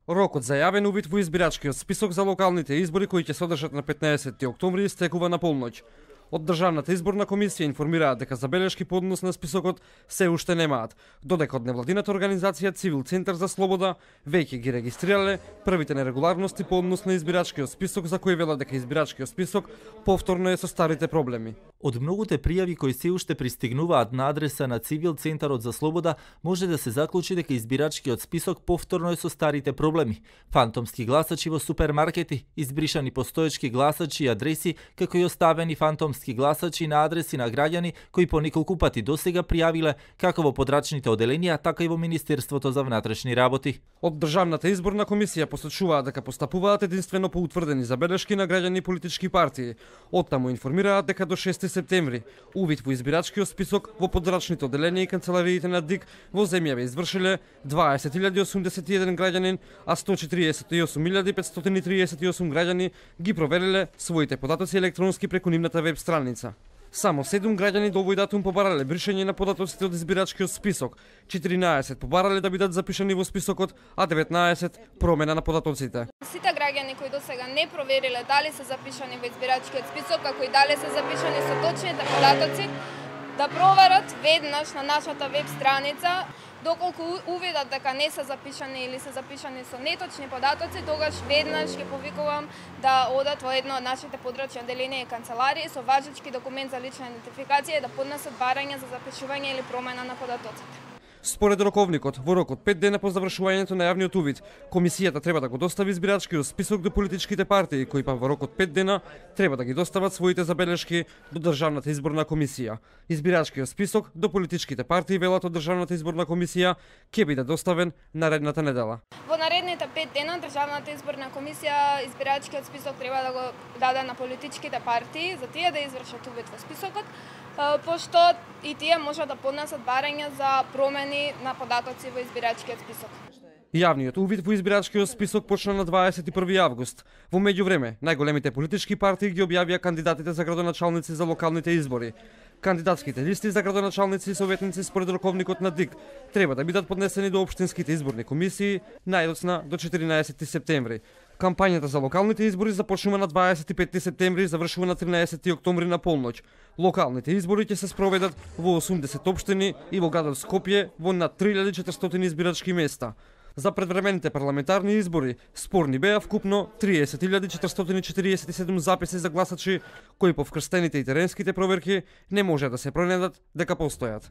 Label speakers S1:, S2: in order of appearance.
S1: Рокот за јавен увид во избирачкиот список за локалните избори кои ќе се одржат на 15 октомври истекува на полноќ. Од Државната изборна комисија информираат дека забелешки по однос на списокот се уште немаат, додека од невладината организација Цивил Центар за слобода веќе ги регистрирале првите нерегуларности по однос на избирачкиот список за кои велат дека избирачкиот список повторно е со старите проблеми.
S2: Од многуте пријави кои се уште пристигнуваат на адреса на Цивил Центарот за слобода, може да се заклучи дека избирачкиот список повторно е со старите проблеми. Фантомски гласачи во супермаркети, избришани постоечки гласачи и адреси, како и оставени фантомски гласачи на адреси на граѓани кои по неколку пати досега пријавиле како во подрачните оделенија, така и во Министерството за внатрешни работи.
S1: Од Државната изборна комисија посочуваат дека постапуваат единствено по утврдени забелешки на граѓани и политички партии. Оттаму информираат дека до 6 септември увид во избирачкиот список во подрачните оделенија и канцелариите на ДИК во земјава извршиле 20.081 граѓанин, а 148.538 граѓани ги провериле своите податоци електронски преку нивната веб страница. Само 7 граѓани до овој датум побарале бришење на податоците од избирачкиот список, 14 побарале да бидат запишани во списокот, а 19 промена на податоците.
S3: Сите граѓани кои досега не провериле дали се запишани во избирачкиот список, како и дали се запишани со точните податоци, да проверат веднаш на нашата веб страница. Доколку увидат дека не се запишани или се запишани со неточни податоци, тогаш веднаш ги повикувам да одат во едно од нашите подрачни оделенија и канцеларии со важечки документ за лична идентификација и да поднесат барање за запишување или промена на податоците.
S1: Според роковникот, во рок од 5 дена по завршувањето на јавниот увид, комисијата треба да го достави избирачкиот список до политичките партии, кои па во рок од 5 дена треба да ги достават своите забелешки до Државната изборна комисија. Избирачкиот список до политичките партии, велат од Државната изборна комисија, ќе биде доставен наредната недела.
S3: Во наредните 5 дена Државната изборна комисија избирачкиот список треба да го даде на политичките партии за тие да извршат увид во списокот, пошто и тие може да поднесат барања за промени на податоци во избирачкиот список.
S1: Јавниот увид во избирачкиот список почна на 21 август. Во меѓувреме, најголемите политички партии ги објавија кандидатите за градоначалници за локалните избори. Кандидатските листи за градоначалници и советници според роковникот на ДИК треба да бидат поднесени до општинските изборни комисии најдоцна до 14 септември. Кампањата за локалните избори започнува на 25 септември и завршува на 13 октомври на полноќ. Локалните избори ќе се спроведат во 80 општини и во градот Скопје во над 3400 избирачки места. За предвремените парламентарни избори спорни беа вкупно 30.447 записи за гласачи кои по вкрстените и теренските проверки не може да се пронајдат дека постојат.